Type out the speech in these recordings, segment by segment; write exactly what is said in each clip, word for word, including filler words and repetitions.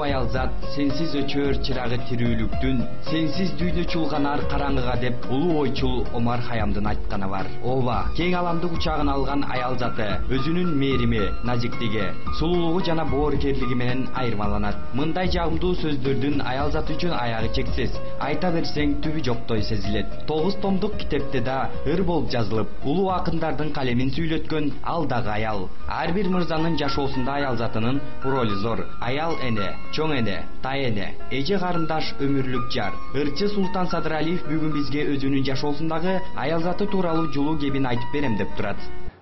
аял зат сенсиз өчөр чырагы тирүүлүктүн, сенсиз дүйнө чулганар караңгыга деп улуу ойчул Омар Хаямдын айтканы бар. Ооба, кең аламды кучагына алган аял заты өзүнүн мээрими, назиктиги, сулуулугу жана боорукерлиги менен айырмаланат. Мындай жагымдуу сөздөрдүн аял заты үчүн аягы чексиз, айта берсең түбү жоктой сезилет. Тогуз томдук китепте да ыр болуп жазылып, улуу акындардын калемин сүйлөткөн ал дагы аял. Ар бир мырзанын жашоосунда аял затынын ролу зор. Аял эне, чоң эне, тай эне, эже карындаш, өмүрлүк жар. Ырчы Султан Садыралиев бүгүн бизге өзүнүн жашоосундагы аял заты тууралуу жылуу кебин айтып берем деп турат.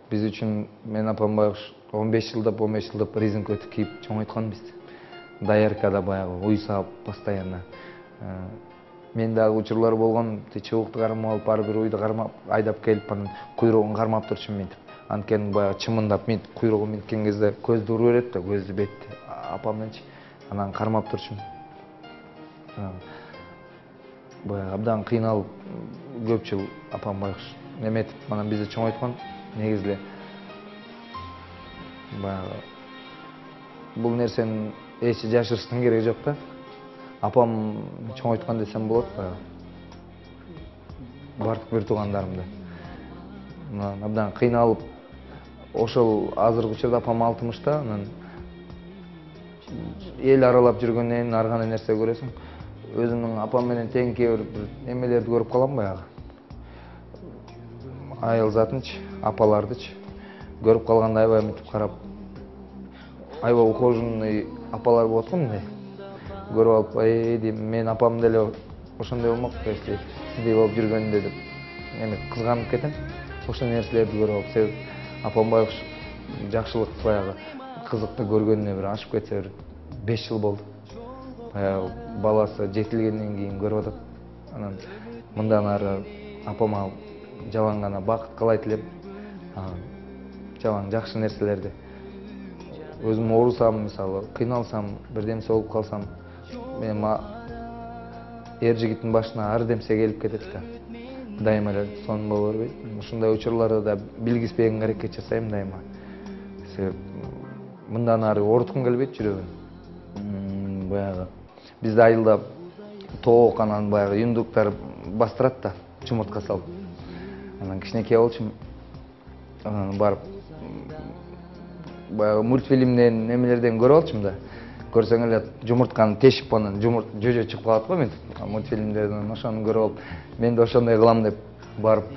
Биз үчүн мен апам баягы он беш жылдап он беш жылдап резинка өтүк кийип чоңойткон бизди. Даяркада баягы уй саап постоянно. Мен дагы учурлар болгон, чыбыкты кармап алып, ар бир уйду кармап айдап келип, анан куйругун кармап турчумун мынтип. Анткени баягы чымындап мынтип куйругу минткен кезде көздү уруп берет да, көздү бетти. Апам менчи анан кармап турчумун. Баягы абдан кыйналып көп жыл апам байкуш неметип, анан бизди чоңойткон. Негизи эле баягы бул нерсени эч жашырыштын кереги жок да. Апам чоңойткон десем болот баягы. Бардык бир туугандарымды. Анан абдан кыйналып, ошол азыркы учурда апам алтымышта, анан эл аралап жүргөндөн ар кандай нерсе көрөсүң. Өзүмдүн апам менен тең кээ бир эмелерди көрүп калам баягы. Аял затынчы, апалардычы көрүп калганда аябай мынтип карап, аябай ухоженный апалар болот го мындай. Көрүп алып, эй дейм, мен апам деле ошондой болмок, если сиздей болуп жүргөндө деп эме кызганып кетем. Ошол нерселерди көрүп алып, себеп апам байкуш жакшылык баягы кызыкты көргөнүнө бир ашып кетсе бир беш жыл болду. Баягы баласы жетилгенден кийин көрүп атат. Анан мындан ары апама жалаң гана бакыт каалай элем. Жалаң жакшы нерселерди. Өзүм оорусам, мисалы, кыйналсам, бирдемсе болуп калсам, мен эр жигиттин башына ар демсе келип кетет да. Дайыма эле сонун боло бербейт. Ушундай учурларда да билгизбегенге аракет жасайм дайыма. Себеп мындан ары ооруткум келбейт жүрөгүн. Баягы бизде айылда тоок, анан баягы юндуктар бастырат да, чумуртка салып. Анан кичинекей болчумун. Анан барып баягы мультфильмден, немелерден көрүп алчумун да. Көрсөң эле жумуртканы тешип, анан жумурт жөжө чыгып калат го мынтип мультфильмдерден, ошону көрүп алып, мен да ошондой кылам деп барып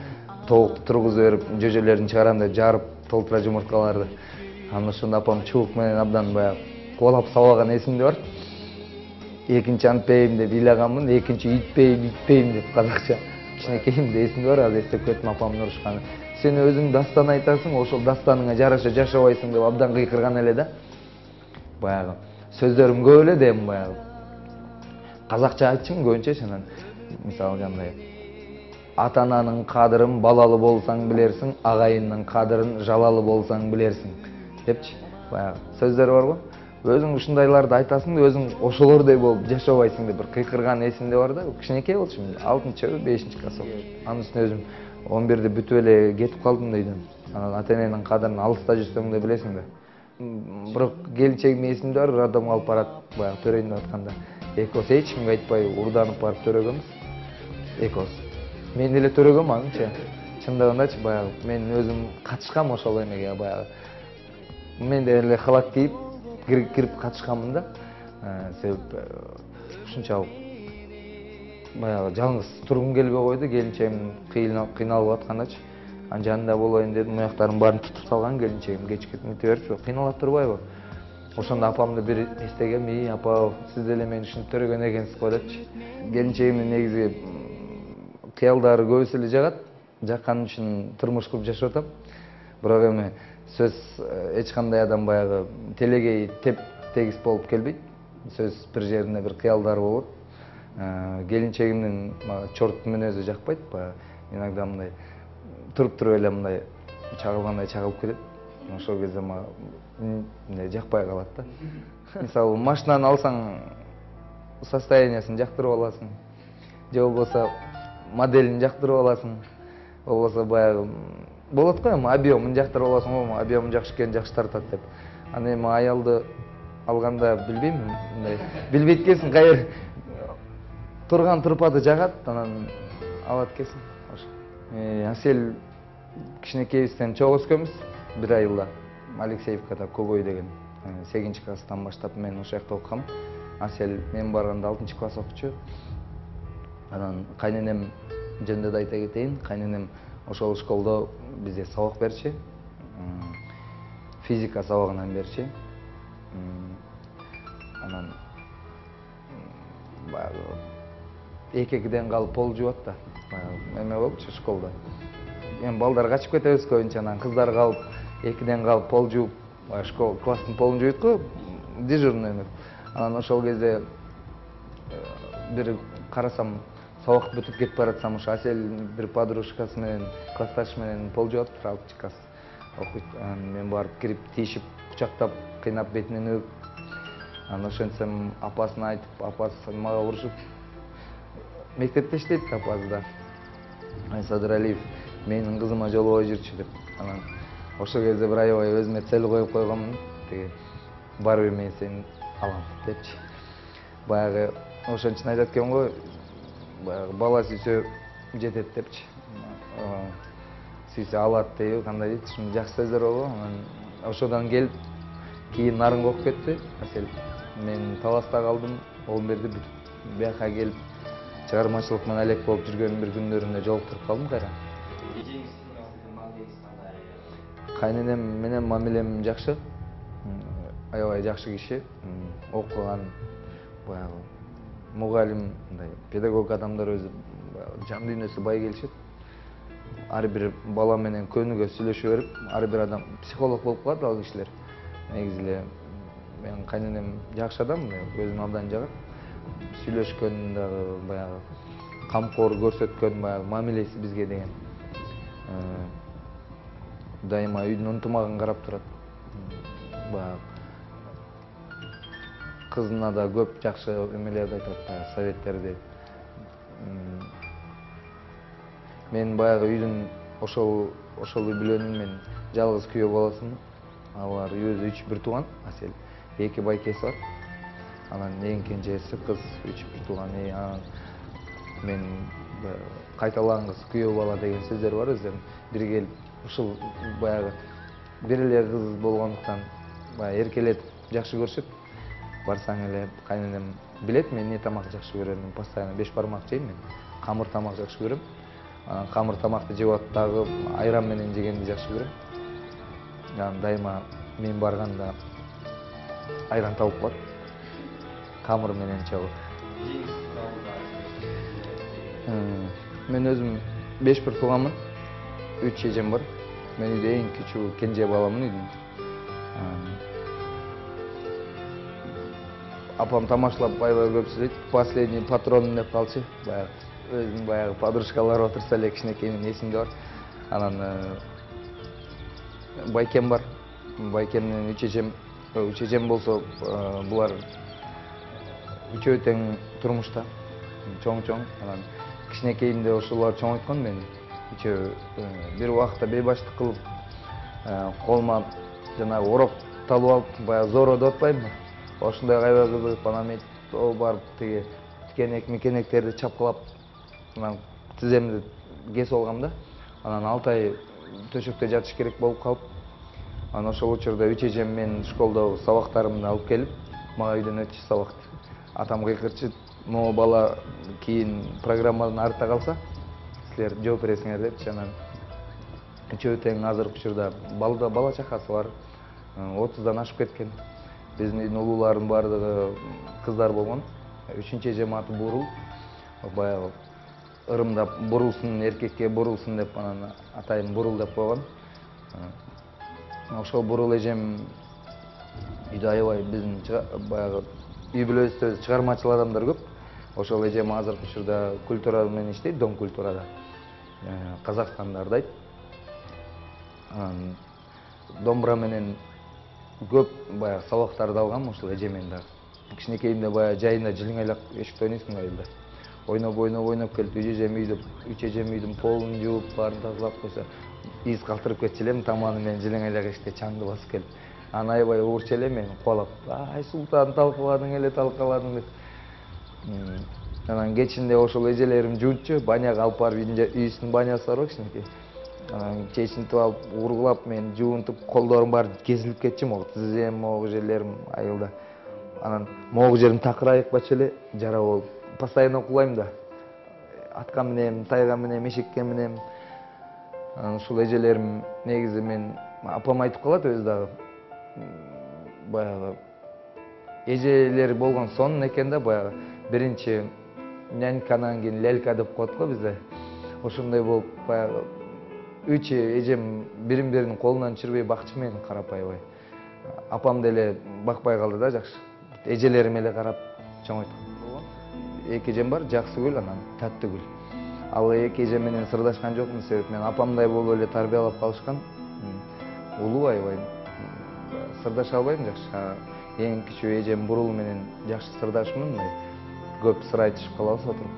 тоокты тургузуп берип, жөжөлөрүн чыгарам деп жарып толтура жумурткаларды. Анан ошондо апам чубук менен абдан баягы кубалап сабаган эсимде бар. Экинчи антпейм деп ыйлаганмын, экинчи үйтпейм, үйтпейм деп казакча. Кичинекейимде эсимде бар, азыр эстеп кеттим апамдын урушканы. Сен өзүң дастан айтасың, ошол дастаныңа жараша жашабайсың деп абдан кыйкырган эле да. Баягы сөздөрүм көп эле дейм баягы. Казакча айтчумун көбүнчө, анан мисалы кандай ата-ананын кадырын балалы болсаң билерсиң, агайындын кадырын жалалы болсаң билерсиң депчи. Баягы сөздөр бар го. Өзүң ушундайларды айтасың да, өзүң ошолордой болуп жашабайсың деп бир кыйкырган эсимде бар да. Кичинекей болчумун, алтынчы, бешинчи класс болчумун. Анын үстүнө өзүм он бирде бүтүп эле кетип калдым дейдим. Анан ата-эненин кадырын алыста жүрсөң да билесиң да. Бирок келинчегимдин эсимде бар, роддомго алып барат, баягы төрөйүндө атканда. Экөөбүз эч кимге айтпай урданып барып төрөгөнбүз. Экөөбүз. Мен деле төрөгөм анычы. Чындыгындачы баягы мен өзүм катышкам ошол эмеге баягы. Мен деле халат кийип кирип катышканмын да. Себеп ушунчалык баягы жалгыз тургум келбей койду, келинчегим кыйналып аткандачы. Анын жанында болоюн дедим, аяктарым баарын тутуп салган келинчегим, кечке мынтип берчү, кыйналып турбайбы? Ошондо апамды бир эстегем, "Ий, апа, сиз деле мени ушинтип төрөгөн экенсиз го" депчи. Келинчегимдин негизи кыялдары көбүсү эле жагат. Жаккан үчүн турмуш куруп жашап атам. Бирок эми сөз эч кандай адам баягы телегей теп тегиз болуп келбейт. Сөз бир жеринде бир кыялдары болот. Келинчегимдин чорт мүнөзү жакпайт, баягы иногда мындай туруп туруп эле мындай чагылгандай чагылып кетет. Ошол кезде мага мындай жакпай калат да. Мисалы, машинаны алсаң, состояниясын жактырып аласың. Же болбосо моделин жактырып аласың. Болбосо баягы болот го, эми объемун жактырып аласың, объему жакшы экен, жакшы тартат деп. Аны эми аялды алганда билбейм, мындай билбейт экенсиң, кайер турган турпады жагат, анан алат экенсиң. Ошо. Асель кичинекейибизден чогуу өскөнбүз, бир айылда. Алексеевкада Когой деген. сегизинчи класстан баштап мен ошол жакта окугам. Асель мен барганда алтынчы класс окучу. Анан кайненем жөнүндө да айта кетейин. Кайненем ошол школдо бизде сабак берчү. Физика сабагынан берчү. Анан баягы эки-экиден калып пол жууат да. Баягы эме болчу школдо. Эми балдар качып кетебиз көбүнчө, анан кыздар калып экиден калып пол жууп, школ класстын полун жууйт го, дежурный эме. Анан ошол кезде бир карасам, сабак бүтүп кетип баратсам, ошо Асель бир подружкасы менен, классташы менен пол жууп атыптыр, алтынчы класс окуйт. Анан мен барып кирип, тийишип, кучактап, кыйнап бетинен өп. Анан ошентсем апасына айтып, апасы мага урушуп. Мектепте иштейт апасы да. Садыр Алиев менин кызыма жолбой жүрчү деп. Анан ошол кезде бир аябай өзүмө цель коюп койгоммун. Тиги барбыр мен сени алам депчи. Баягы ошон үчүн айтат экен го, баягы бала сүйсө жетет депчи. Сүйсө алат дейби, кандай дейт, ушундай жакшы сөздөр болду. Анан ошодон келип кийин нарынга окуп кетти Асель. Мен Таласта калдым, он бирди бүтүп бияка келип чыгармачылык менен элек болуп жүргөн бир күндөрүндө жолуктуруп калдым кайра. Кайненем менен мамилем жакшы. Аябай жакшы киши. Окуган, баягы мугалим, мындай педагог адамдар өзү жан дүйнөсү бай келишет. Ар бир бала менен көнүгө сүйлөшө берип, ар бир адам психолог болуп калат ал кишилер. Негизи эле менин кайненем жакшы адам, өзүн абдан жагат. Сүйлөшкөн дагы баягы камкор көрсөткөн баягы мамилеси бизге деген. Дайыма үйдүн унтумагын карап турат. Баягы кызына да көп жакшы эмелерди айтат, советтерди. Мен баягы үйдүн ошол ошол үй билөнүм, мен жалгыз күйөө баласымын. Алар өзү үч бир тууган, Асель. Эки байкеси бар. Анан эң кенжеси кыз, үч бир тууган. Мен кайталанган кыз күйөө бала деген сөздөр бар өзүнүн. Бир келип ушул баягы бир эле кыз болгондуктан баягы эркелетип жакшы көрүшөт. Барсаң эле кайненем билет мен эмне тамак жакшы көрөмүн. Постоянно беш бармак жейм мен. Камыр тамак жакшы көрөм. Анан камыр тамакты жеп атып дагы айран менен жегенди жакшы көрөм. Анан дайыма мен барганда айран табып коет. Камыр менен чогуу. Мен өзүм беш бир тууганмын. үч эжем бар. Мен үйдө эң кичүү кенже баламын үйдүн. Апам тамашалап аябай көп сүйлөйт. Последний патрон деп калчы. Баягы өзүнүн баягы подружкалары отурса эле кичинекей менин эсимде бар. Анан байкем бар. Байкем менен үч эжем, үч эжем болсо булар үчөө тең турмушта. Чоң-чоң. Анан кичинекейимде ошолор чоңойткон мени. Үчөө бир убакта бейбаштык кылып, колума жанагы ороп талып алып, баягы зоро деп атпаймынбы? Ошондой аябай кызыгып, анан мен барып тиги тикенек мекенектерди чапкылап, анан тиземди кесип алгам да. Анан алты ай төшөктө жатыш керек болуп калып, анан ошол учурда үч эжем мен школдогу сабактарымды алып келип, мага үйдөн өтчү сабакты. Атам кыйкырчы, могу бала кийин программадан артта калса, силер жооп бересиңер депчи. Анан үчөө тең азыркы учурда балда бала чакасы бар, отуздан ашып кеткен. Биздин үйдүн улууларынын баардыгы кыздар болгон. Үчүнчү эжем аты Бурул. Баягы ырымдап бурулсун, эркекке бурулсун деп анан атайын Бурул деп койгон. Ошол Бурул эжем үйдө аябай биздин баягы үй бүлөбүздө чыгармачыл адамдар көп. Ошол эжем азыркы учурда культура менен иштейт, Дом культурада. Казакстанда ардайт. Анан домбура менен көп баягы сабактарды алгам ошол эжемен дагы. Кичинекейимде баягы жайында жилиңайлак эшикте ойнойсуң айылда. Ойноп, ойноп, ойноп келип, үч эжем үйдү, үч эжем үйдүн полун жууп, баарын тазалап койсо, из калтырып кетчү элем, таманы менен жилиңайлак эшикте чаңды басып келип. Анан аябай уурчу эле мени кубалап, ай Султан талкаладың эле талкаладың деп. Анан кечинде ошол эжелерим жуунчу, баняга алып барып үйүбүздүн банясы бар кичинекей. Анан чечинтип алып, ургулап мен жуунтуп, колдорум баары кезилип кетчү, могу тизем, могу жерлерим айылда. Анан могу жерим такырайып калчу эле, жара болуп. Постоянно кулайм да. Атка минем, тайга минем, эшекке минем. Анан ушул эжелерим негизи мен апам айтып калат өзү дагы. Баягы эжелер болгон сонун экен да, баягы биринчи нянька, анан кийин лялька деп коет го бизде. Ошондой болуп баягы үч эжем бирин-биринин колунан түшүрбөй бакчы мени карап аябай. Апам деле бакпай калды да жакшы. Эжелерим эле карап чоңойткон. Эки эжем бар, Жаксыгүл, анан Таттыгүл. Ал эки эжем менен сырдашкан жокмун, себеп мен апамдай болуп эле тарбиялап калышкан. Улуу аябай сырдаша албайм жакшы. Эң кичүү эжем Бурул менен жакшы сырдашмын, көп сыр айтышып калабыз отуруп.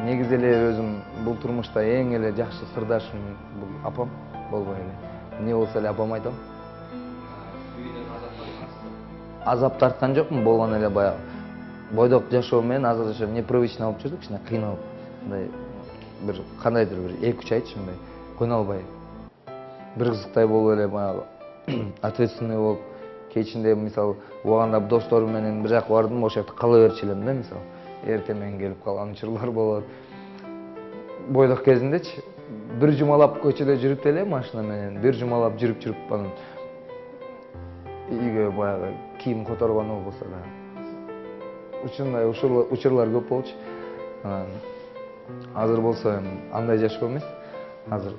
Негизи эле өзүм бул турмушта эң эле жакшы сырдашым бул апам болбой эле. Эмне болсо эле апам айтам. Азап тарткан жокмун, болгон эле баягы бойдок жашоо менен азыр ошо непривычно болуп жүрдүк, кичине кыйналып. Мындай бир кандайдыр бир эки үч айтчы мындай көйнө албай. Бир кызыктай болуп эле баягы ответственный болуп, кечинде мисалы убагында досторум менен бир жака бардым, ошол жакта кала берчү элем да, мисалы. Эртемен келип калган учурлар болот. Бойдок кезиндечи бир жумалап көчөдө жүрүп эле машина менен, бир жумалап жүрүп-жүрүп анан үйгө баягы кийим которгону болбосо да. Ушундай учурлар көп болчу. Анан азыр болсо андай жашоо эмес. Азыр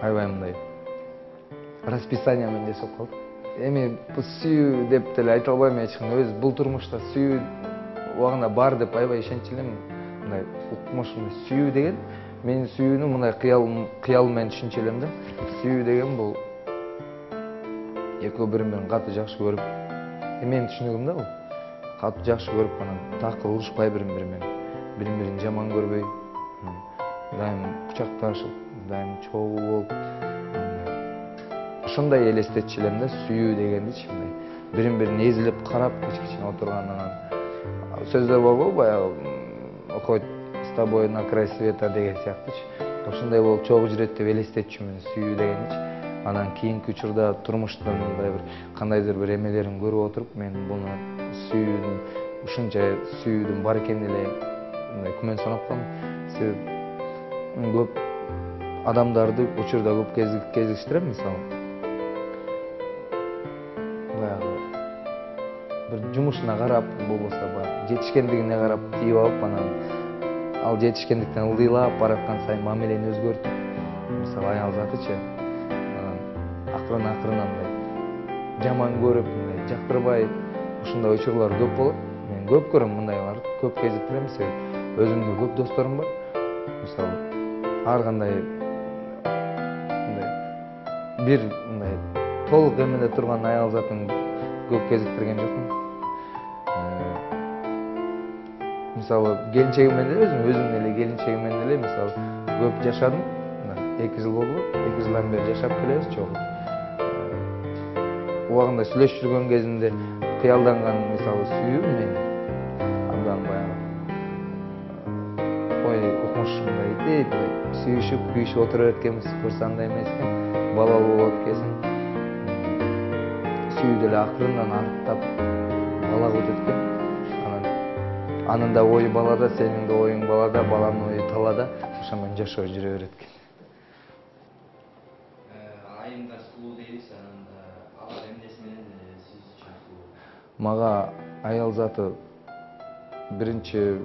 аябай мындай расписание менен жашап калдык. Эми сүйүү деп деле айта албайм эч ким. Өз бул турмушта сүйүү убагында бар деп аябай ишенчү элем. Мындай укмушум сүйүү деген, мен сүйүүнү мындай кыял кыял менен түшүнчү элем да. Сүйүү деген бул экөө бири-бирин катуу жакшы көрүп, менин түшүнүгүм да бул. Катуу жакшы көрүп, анан такыр урушпай бири-бири менен, бири-бирин жаман көрбөй, дайым кучакташып, дайым чогуу болуп, ошондой элестетчү элем да сүйүү дегендичи, мындай бирин-бирин эзилип карап, кичкичине отурган, анан сөздөр болбу, баягы окойт с тобой на край света деген сыяктуучу. Ошондой болуп чогуу жүрөт деп элестетчүмүн сүйүү дегеничи. Анан кийинки учурда турмуштун мындай бир кандайдыр бир эмелерин көрүп отуруп, мен буну сүйүүнүн ушунча сүйүүдүн бар экенин эле мындай күмөн санап калдым. Себеп көп адамдарды учурда көп кезиштирем, мисалы. Баягы бир жумушуна карап, болбосо баягы жетишкендигине карап тийип алып, анан ал жетишкендиктен ылдыйлап бараткан сайын мамилени өзгөртүп, мисалы аял затычы, акырын-акырын мындай жаман көрүп, мындай жактырбай, ушундай учурлар көп болот. Мен көп көрөм мындайларды, көп кезиктирем, себеп өзүмдүн көп досторум бар. Мисалы, ар кандай мындай бир мындай толук эмеде турган аял затын көп кезиктирген жокмун. Мисалы, келинчегим менен эле өзүм, өзүмдүн эле келинчегим менен эле мисалы көп жашадым. эки жыл болду, эки жылдан бери жашап келебиз чогуу. Убагында сүйлөшүп жүргөн кезинде кыялданган мисалы сүйүү мен андан баягы ой укмушумдай дейт, сүйүшүп, күйүшүп отура берткенбиз, көрсө андай эмес экен, балалуу болот экен. Сүйүү деле акырындан аныктап балага өтөт экен. Анан анын да ою балада, сенин да оюң балада, баланын ою талада, ошо менен жашоо жүрө берет экен. Айымдар сулуу дейбиз, анан алар эмнеси менен сиз үчүн сулуу? Мага аял заты биринчи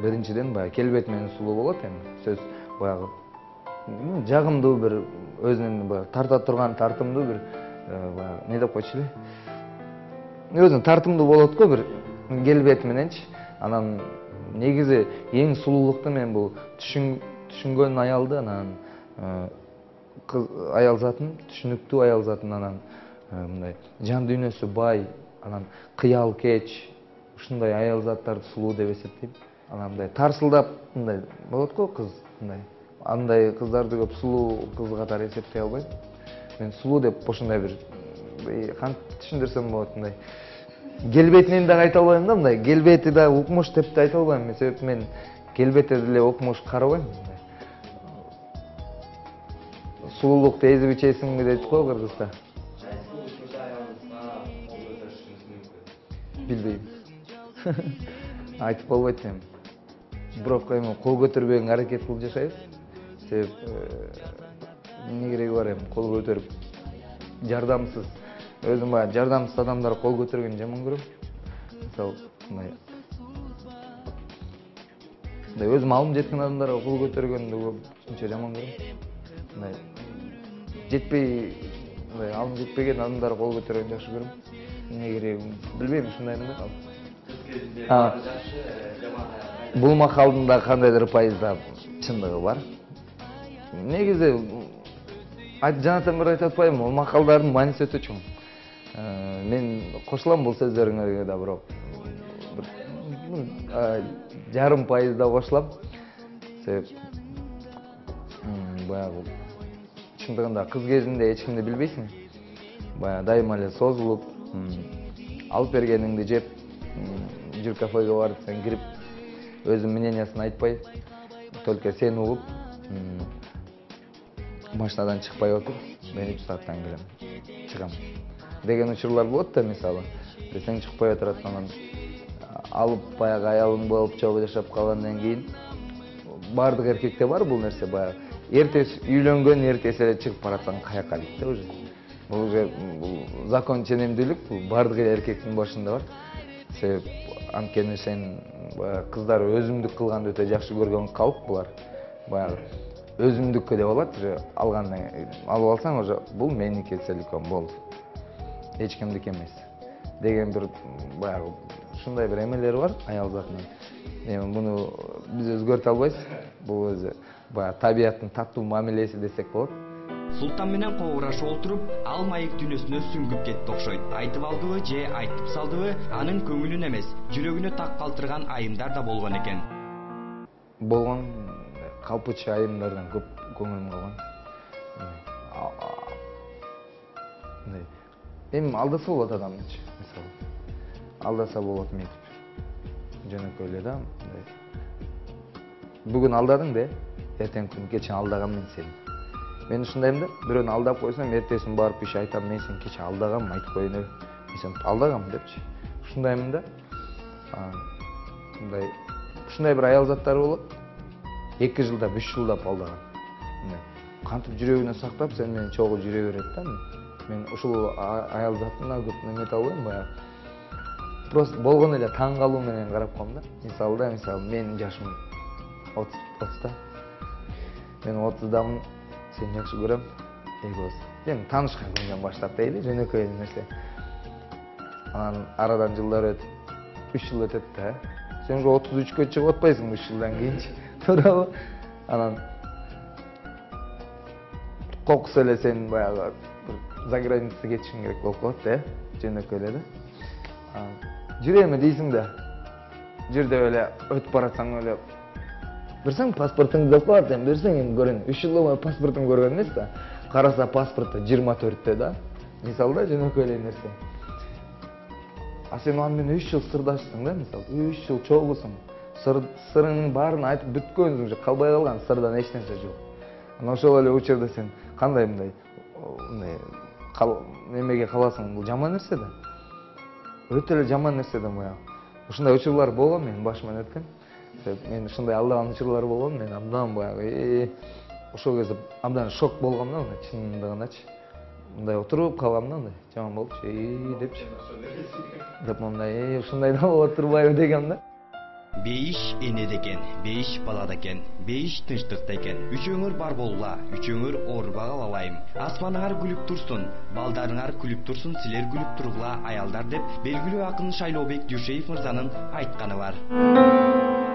биринчиден баягы келбет менен сулуу болот эми. Сөз баягы жагымдуу бир өзүнүн баягы тарта турган, тартымдуу бир баягы эмне деп койчу эле? Өзүнүн тартымдуу болот го бир келбет мененчи. Анан негизи эң сулуулукту мен бул түшүнгөн аялды, анан кыз аял затын, түшүнүктүү аял затын, анан мындай жан дүйнөсү бай, анан кыял кеч, ушундай аял заттарды сулуу деп эсептейм. Анан мындай тарсылдап мындай болот го кыз, мындай андай кыздарды көп сулуу кыз катары эсептей албайм. мен сулуу деп ошондой бир кантип түшүндүрсөм болот, мындай келбетинен дагы айта албайм да, мындай келбети да укмуш деп да айта албайм, себеби мен келбетти деле укмуш карабайм. Сулуулукту эзип ичесиңби дейт го кыргызда. Билбейм. Айтып болбойт эми. Бирок эми кол көтөрбөгөнгө аракет кылып жашайбыз. Себеп эмне кереги бар эми кол көтөрүп жардамсыз. Өзүм баягы жардамсыз адамдар кол көтөргөнү жаман көрөм. Мисалы, мындай мындай өзүм алым жеткен адамдарга кол көтөргөндү ушунча жаман көрөм. Мындай жетпей, мындай алым жетпеген адамдарга кол көтөргөндү жакшы көрөм. Эмне кереги билбейм, ушундаймын да. Бул макалдын да кандайдыр пайызда чындыгы бар. Негизи жанатан бери айтып атпаймынбы, бул макалдардын мааниси өтө чоң. Мен кошулам бул сөздөрүңөргө да, бирок жарым пайызда кошулам. Себеп баягы чындыгында кыз кезинде эч кимди билбейсиң. Баягы дайыма эле созулуп, алып бергениңди жеп, жүр кафеге барып сен кирип, өзүнүн мнениясын айтпай, только сени угуп, машинадан чыкпай отур, мен үч сааттан келем, чыгам деген учурлар болот да, мисалы. Сен чыкпай отурат, анан алып баягы аялың болуп чогуу жашап калгандан кийин баардык эркекте бар бул нерсе, баягы эртеси үйлөнгөн, эртеси эле чыгып баратсаң каяка дейт да уже. Бул уже бул закон ченемдүүлүк, бул баардык эркектин башында бар. Себеп анткени сен баягы кыздар өзүмдүк кылганды өтө жакшы көргөн калп булар. Баягы өзүмдүккө деп алат, уже алгандан алып алсаң уже бул меники целиком болду. Эч кимдики эмес деген бир баягы ушундай бир эмелери бар аял затынын. Эми муну биз өзгөртө албайбыз. Бул өзү баягы табияттын таттуу мамилеси десек болот. Султан менен кобурашып отуруп, ал маек дүйнөсүнө сүңгүп кетти окшойт. Айтып алдыбы же айтып салдыбы, анын көңүлүн эмес, жүрөгүнө так калтырган айымдар да болгон экен. Болгон калпычы айымдардан көп көңүлүм калган. Эми алдаса болот адамчы, мисалы. Алдаса болот ментип. Жөнөкөй эле да. Бүгүн алдадың да, эртең күн кече алдаган мен сени. Мен ушундайм да, бирөөнү алдап койсом, эртесин барып иш айтам, мен сени кече алдагам, айтып коеюн эле. Мен сени алдагам депчи. Ушундаймын да. Мындай ушундай бир аял заттары болот. эки жылдап, үч жылдап алдаган. Кантип жүрөгүнө сактап, сен менен чогуу жүрө берет да. Мен ушул аял заттына көп немете албайм, баягы. Просто болгон эле таң калуу менен карап калам да. Мисалы да, мисалы менин жашым отузда. Мен отуздамын, сени жакшы көрөм. Экөөбүз. Эми таанышкан күндөн баштап дейли, жөнөкөй нерсе. Анан арадан жылдар өтүп, үч жыл өтөт да. Сен уже отуз үчкө чыгып атпайсыңбы үч жылдан кийинчи? Туурабы? Анан кокус эле сен баягы за граница кетишиң керек болуп калат да, жөнөкөй эле да. Жүрөмү дейсиң да. Жүр деп эле өтүп баратсаң эле берсең паспортуңду деп коет, эми берсең эми көрөйүн. үч жыл бою паспортун көргөн эмес да. Караса паспорту жыйырма төрттө да. Мисалы да, жөнөкөй эле нерсе. А сен аны менен үч жыл сырдашсың да, мисалы. үч жыл чогуусуң. Сырыңдын баарын айтып бүткөнсүң, уже калбай калган, сырдан эч нерсе жок. Анан ошол эле учурда сен кандай мындай мындай немеге каласың, бул жаман нерсе да. Өтө эле жаман нерсе да баягы. Ушундай учурлар болгон менин башыман өткөн. Мен ушундай алдаган учурлар болгон, мен абдан баягы ошол кезде абдан шок болгом да, мындай чындыгындачы. Мындай отуруп калгам да, мындай жаман болупчу, эй депчи. Деп мындай ушундай да болот турбайбы дегем да. Бейиш энеде экен, бейиш балада экен, бейиш тынчтыкта экен. Үчөөңөр бар болгула, үчөөңөр оорубай калалайым. Асманыңар күлүп турсун, балдарыңар күлүп турсун, силер күлүп тургула аялдар деп белгилүү акын Шайлообек Дүйшеев мырзанын айтканы бар.